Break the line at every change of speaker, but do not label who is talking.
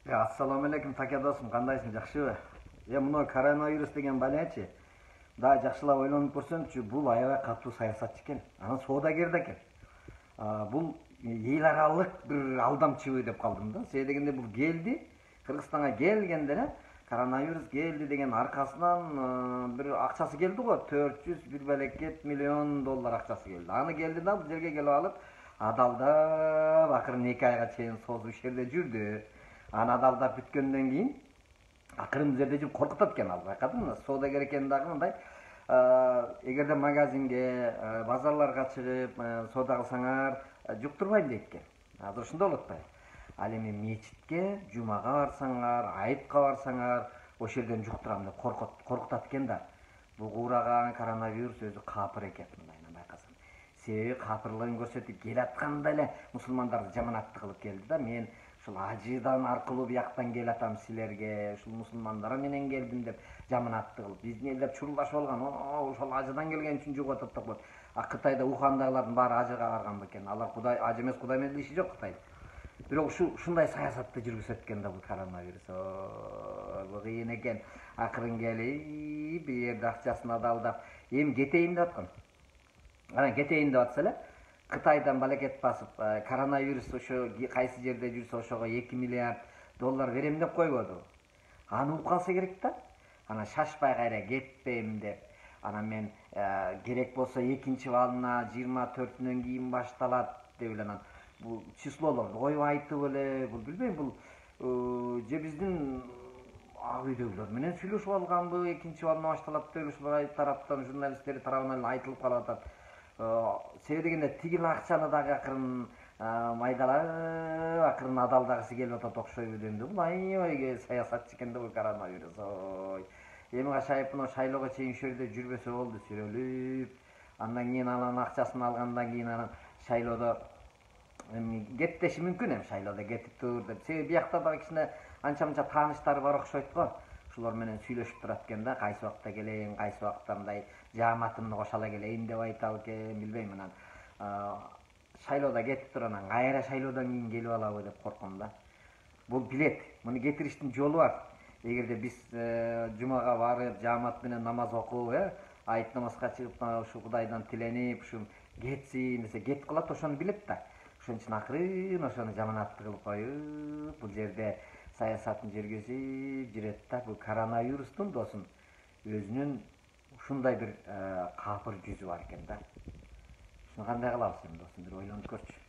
Ассаламу алейкум, таке досум, кандайсың, жакшыбы? Мына коронавирус деген балячы да жакшылап ойлонуп көрсөңчү, бул аябай катуу саясатчы экен. Анан соодагер да экен. Бул эл аралык бир алдамчыбы деп калдым да. Себеби дегенде бул келди, Кыргызстанга келгенде эле коронавирус келди деген аркасынан бир акчасы келди го, 401 белекет миллион доллар акчасы келди. Аны келди да бул жерге келип алып, адалдап акырын 2 айга чейин созуп иш жерде жүрдү. Аны адалдап бүткөндөн кийин акырын бул жерде жүрүп коркутат экен, ал байкадыңбы? Соодагер экен дагы мындай, эгерде магазинге, базарларга чыгып соода кылсаңар жуктурбайм дейт экен. Азыр ошондой болуп атпайбы? Ал эми мечитке, жумага барсаңар, айытка барсаңар, ошол жерден жуктурам деп коркутат экен да. Бул куураган коронавирус өзү капыр экен, мындайынан байкасаң. Себеби капырлыгын көрсөтүп келатканда эле мусулмандарды жаманаттуу кылып келди да. Мен ушул ажыдан аркылуу бияктан келатам силерге, ушул мусулмандар менен келдим деп жаманаттуу кылып, биздин эл деп чурулдашып алган. Ошол ажыдан келген үчүн жугуп атат деп коет. Кытайда Ухандагылардын баары ажыга барган бекен. Алар Кудай, ажы эмес, Кудай менен иши жок Кытайда. Бирок ушундай саясатты жүргүзөт экен да бул коронавирус. Бул кыйын экен. Акырын келип, бир жерде акчасын адалдап, эми кетейин деп аткан. Анан кетейин деп атса эле, Кытайдан балекет басып, коронавирус ошо кайсы жерде жүрсө ошого 2 миллиард доллар берем деп койбоду. Аны угуп калса керек да. Анан шашпай кайра кетпейм деп. Анан мен керек болсо экинчи валына 24-үнөн кийин башталат деп эле анан бул числолорду коюп айтып эле, бул билбейм, бул же биздин ак үйдөгүлөр менен сүйлөшүп алганбы, экинчи валына башталат деп ушулар тараптан, журналисттер тарабынан эле айтылып калып атат. Себеби дегенде тигил акчаны дагы акырын майдалап, акырын адалдагысы келип атат окшойбу дегенде. Бул аябай саясатчы экен да бул коронавирус. Эми качайып мына шайлоого чейин ушул жерде жүрбөсө болду, сүрөлүп. Андан кийин анан акчасын алгандан кийин анан шайлоодо кеттеши мүмкүн, эми шайлоодо кетип тур деп. Себеби биякта дагы кичине анча-мынча тааныштары бар окшойт го. Ушулар менен сүйлөшүп турат экен да, кайсы убакта келейин, кайсы убакта мындай жааматымды кошо ала келейин деп айтат экен, билбейм. Анан шайлоодо кетип тур, анан кайра шайлоодон кийин келип алабы деп корком да. Бул билет, муну кетириштин жолу бар. Эгерде биз жумага барып, жаамат менен намаз окуп, айт намазга чыгып, ушу Кудайдан тиленип, ушу кетсин десе, кетип калат, ошону билет да. Ошон үчүн акырын ошону жаманаттуу кылып коюп, бул жерде саясатын жүргүзүп жүрөт да. Бул коронавирустун досум өзүнүн ушундай бир капыр жүзү бар экен да. Ушуну кандай кылабыз эми досум, бир ойлонуп көрчү.